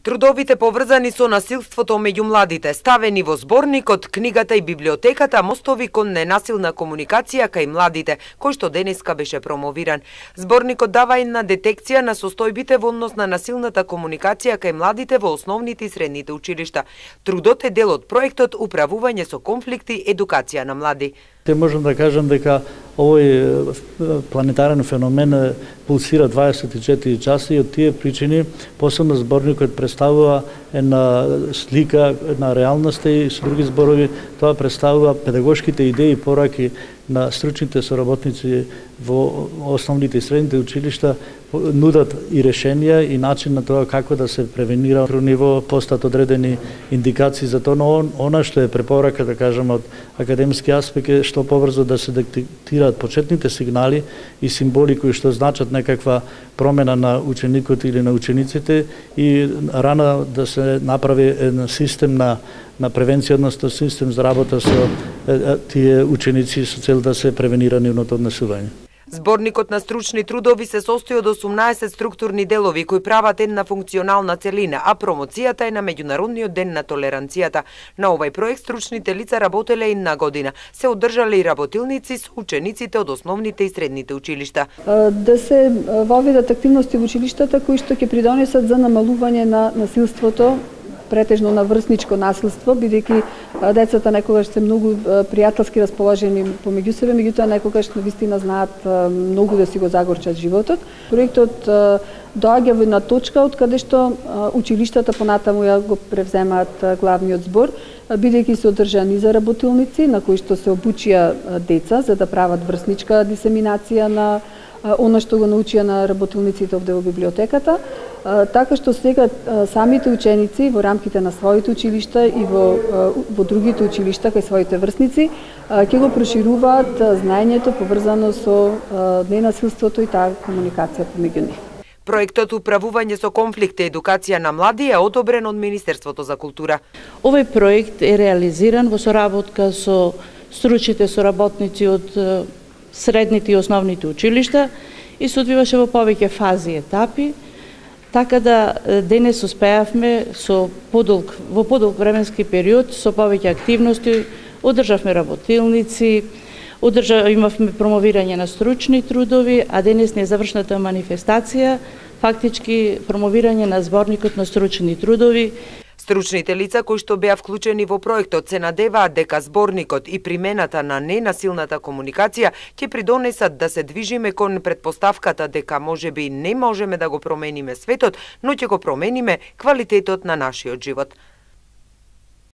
Трудовите поврзани со насилството меѓу младите, ставени во зборникот, книгата и библиотеката "Мостови кон ненасилна комуникација кај младите", кој што денеска беше промовиран. Зборникот дава една детекција на состојбите во однос на насилната комуникација кај младите во основните и средните училишта. Трудот е дел од проектот "Управување со конфликти, едукација на млади". Те можам да кажам дека овој планетарен феномен пулсира 24 часа и од тие причини посебно зборникот представува една слика на реалноста и со други зборови тоа представува педагошките идеи и пораки на стручните соработници во основните и средните училишта, нудат и решенија и начин на тоа како да се превенира во ниво, постат одредени индикации за тоа, но она што е препорака, да кажам, од академски аспект е што побрзо да се детектираат почетните сигнали и символи кои што значат некаква промена на ученикот или на учениците и рано да се направи еден систем на превенција, односно систем за работа со тие ученици со цел да се превенира нивното однесување. Зборникот на стручни трудови се состои од 18 структурни делови кои прават една функционална целина, а промоцијата е на Меѓународниот ден на толеранцијата. На овој проект стручните лица работеле една година. Се одржале и работилници со учениците од основните и средните училишта. Да се воведат активности во училиштата кои што ќе придонесат за намалување на насилството, претежно на врсничко насилство, бидејќи децата некогаш се многу пријателски расположени помеѓу себе, меѓутоа некогаш навистина знаат многу да си го загорчат животот. Проектот доаѓа во една точка од каде што училиштата понатаму ја го превземаат главниот збор, бидејќи се одржани за работилници на кои што се обучија деца за да прават врсничка дисеминација на она што го научија на работилниците овде во библиотеката, така што сега самите ученици во рамките на своите училишта и во другите училишта кај своите врсници ќе го прошируваат знаењето поврзано со ненасилството и таа комуникација помеѓу нив. Проектот "Управување со конфликти, едукација на млади" е одобрен од Министерството за култура. Овој проект е реализиран во соработка со стручните соработници од средните и основните училишта и се одвиваше во повеќе фази и етапи, така да денес успеавме во подолг временски период со повеќе активности, одржавме работилници, имавме промовирање на стручни трудови, а денес не завршната манифестација, фактички промовирање на зборникот на стручни трудови. Стручните лица кои што беа вклучени во проектот се надеваат дека зборникот и примената на ненасилната комуникација ќе придонесат да се движиме кон претпоставката дека можеби не можеме да го промениме светот, но ќе го промениме квалитетот на нашиот живот.